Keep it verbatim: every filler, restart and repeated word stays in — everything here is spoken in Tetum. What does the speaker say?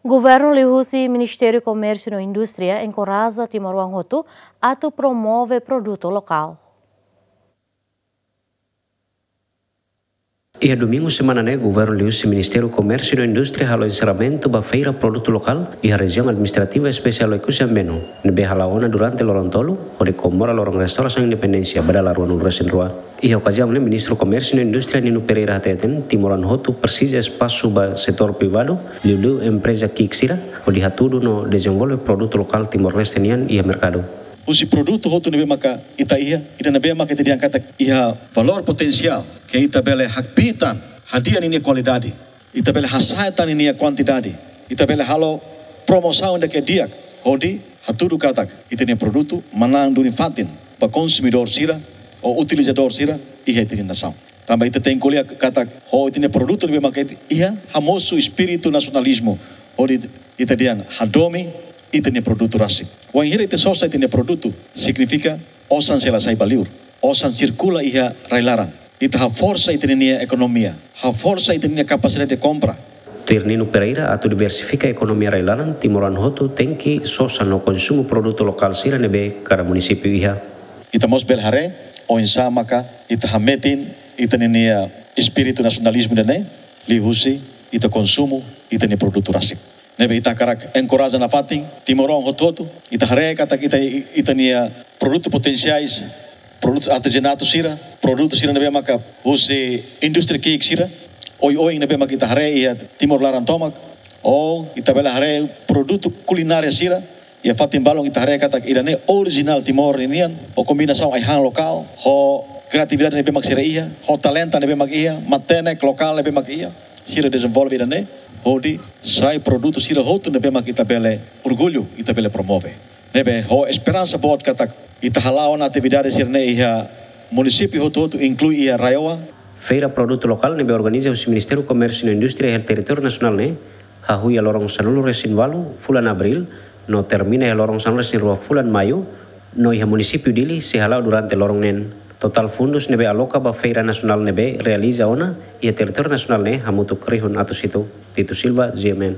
Governu liuhusi Ministériu Komérsiu no Indústria enkoraja timoroan hotu atu promove produtu lokál. Iha domingu semana ne'e, Governu liuhusi Ministériu Komérsiu no Indústria halo enserramentu ba Feira Produtu Lokál iha Rejiaun Administrativa Espesiál Oekusi Ambeno, ne'ebé hala'o ona durante loron tolu, hodi komemora loron restaurasaun independénsia ba dala ruanulu-resin-rua. Iha okaziaun ne'e, Ministru Komérsiu no Indústria Nino Pereira hateten, timoroan hotu presiza espasu ba setór privadu, liuliu empreza ki'ik sira, hodi hatudu no dezenvolve produtu lokál Timor-Leste nian iha merkadu. Husi produtu hotu ne'ebé maka ita iha, ida ne'ebé maka ita dehan katak iha valór potensiál ke ita bele hakbiit tan hadi'a ninia kualidade, ita bele hasa'e tan ninia kuantidade, ita bele halo promosaun ida ke di'ak, hodi hatudu katak ita-nia produtu manán duni fatin ba konsumidór sira ou utilizadór sira iha ita-nia nasaun. Tanba ita tenke ko'alia katak ho ita-nia produtu ne'ebé maka ita iha, hamosu espíritu nasionalizmu, hodi ita dehan hadomi ita-nia produtu rasik. Wainhira ita sosa ita-nia produtu, signifika osan sei la sai ba li'ur, osan sirkula iha rai-laran. Ita haforsa ita-nia ekonomia, haforsa ita-nia kapasidade de kompra. Tuir Nino Pereira, atu diversifika ekonomia rai-laran, timoroan hotu tenke sosa no konsumu produtu lokál sira ne'ebé kada munisípiu iha. Ita mós bele haree oinsá maka ita hametin ita-nia espíritu nasionalizmu ida-ne'e, liuhusi ita konsumu ita-nia produtu rasik. Ne'ebé ita hakarak enkoraja nafatin timoroan hotu-hotu, ita haree katak ita, ita-nia produtu potensiais, produtu artezanatu sira, produtu sira ne'ebé maka husi indústria ki'ik sira, oioin ne'ebé maka ita haree iha Timor laran tomak, ou ita bele haree produtu kulinária sira, iha fatin balun ita haree katak ida-ne'e orijinál Timor ninian, ho kombinasaun ai-han lokál, ho kreatividade ne'ebé mak sira iha, ho talentu ne'ebé mak iha, matenek lokál ne'ebé mak iha, sira dezenvolve ida-ne'e, hodi sai produtu sira hotu ne'ebé mak ita bele orgullu, ita bele promove. Ne'ebé ho esperansa boot katak ita hala'o ona atividade sira-ne'e iha munisípiu hotu-hotu, inklui iha RAEOA. Feira Produtu Lokál ne'ebé organiza husi Ministériu Komérsiu no Indústria iha territóriu nasionál ne'e, hahú iha loron sanulu-resin-ualu fulan Abríl, no termina iha loron sanulu-resin-rua fulan Maiu, no iha munisípiu Dili sei hala'o durante loron neen. Totál fundus ne'ebé aloka ba feira nasionál ne'ebé realiza ona iha territóriu nasionál ne'e hamutuk rihun atus hitu. Tito Silva, G M N.